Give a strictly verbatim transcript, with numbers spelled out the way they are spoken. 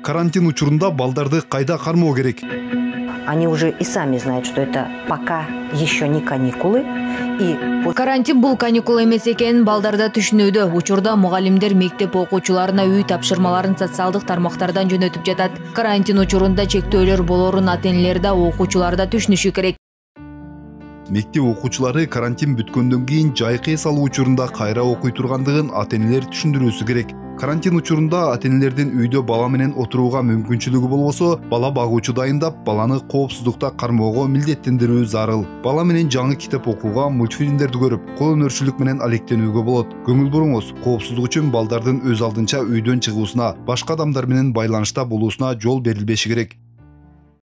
Карантин учурунда балдарды кайда кармоо керек? Они уже и сами знают, что это пока еще не каникулы. Карантин бул каникул эмес экенин балдар да түшүнүүдө. Учурда мугалимдер мектеп окуучуларына үй тапшырмаларын социалдык тармактардан жөнөтүп жатат. Карантин учурунда чектөөлөр болорун ата-энелер да окуучулар да түшүнүшү керек. Мектеп окуучулары карантин бүткөндөн кийин жайкы эс алуу учурунда кайра окуй тургандыгын ата-энелер түшүндүрүүсү керек. Карантин учурунда ата-энелердин үйдө бала менен отурууга мүмкүнчүлүгү болбосо, бала багуучу дайындап, баланы коопсуздукта кармоого милдеттендирүү зарыл. Бала менен жаңы китеп окууга, мультфильмдерди көрүп, кол өнөрчүлүк менен алектенүүгө болот. Көңүл буруңуз, коопсуздук үчүн балдардын өз алдынча үйдөн чыгуусуна, башка адамдар менен байланышта болуусуна жол берилбеши керек.